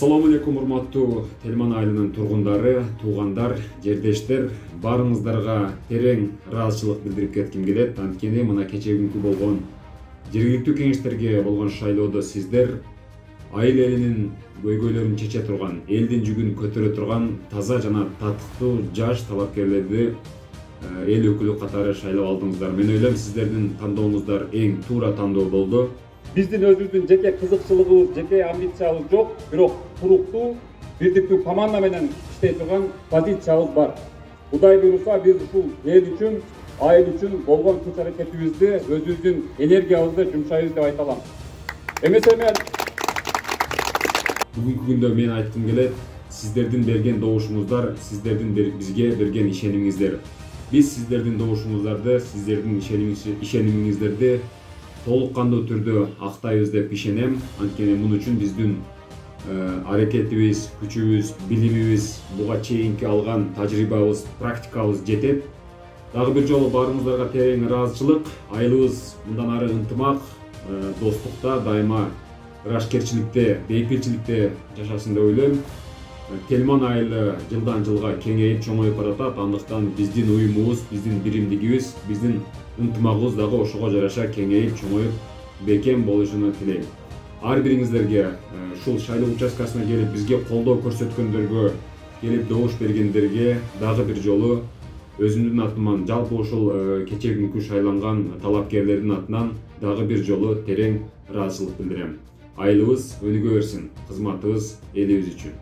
Ассаламу алейкум, урматтуу Тельман айылынын тургундары, туугандар, жердештер, баарыңыздарга терең ыраазычылык билдирип кетким келет. Анткени мына кечеги болгон жергиликтүү кеңештерге болгон шайлоодо сиздер айыл элинин көйгөйлөрүн чече турган, элдин жүгүн көтөрө турган таза жана татыктуу жаш талапкерлерди эл өкүлү катары шайлап алдыңыздар. Мен ойлойм, сиздердин тандооңуздар эң туура тандоо болду. Биздин өзүбүздүн жеке кызыкчылыгыбыз, жеке амбициябыз жок, бирок туруктуу, бирдиктүү команда менен иштей турган позициябыз бар. Кудай буйруса, биз ушул эл үчүн, айыл үчүн болгон күч аракетибизди, өзүбүздүн энергиябызды жумшайбыз деп айта алам. Эмесе мен Бүгүнкү күндө мен айткым келет, сиздердин берген добушуңуздар, сиздердин бизге берген ишенимиңиздер. Биз сиздердин добушуңуздарды, сиздердин ишенимиңиздерди толук кандуу түрдө актайбыз деп ишенем. Анткени муну үчүн биздин аракетибиз, күчүбүз, билимибиз, буга чейинки алган тажрыйбабыз, практикабыз жетет. Дагы бир жолу баарыңыздарга терең ыраазычылык. Айылыбыз мындан ары ынтымак, достукта, дайыма ырашкерчиликте, бейпилчиликте жашасын деп ойлойм. Тельман айылы жылдан жылга кеңейип, чоңоюп баратат. Андыктан биздин уюмубуз, биздин биримдигибиз, биздин ынтымагыбыз дагы ошого жараша кеңейип, чоңоюп, бекем болушуну тилейм. Ар бириңиздерге, ушул шайлоо участкасына келип бизге колдоо көрсөткөндөргө, келип добуш бергендерге дагы бир жолу өзүмдүн атыман, жалпы ушул кечеги күнкү шайланган талапкерлердин атынан дагы бир жолу терең ыраазычылык билдирем. Айылыбыз өнүгө берсин, кызматыбыз элибиз үчүн.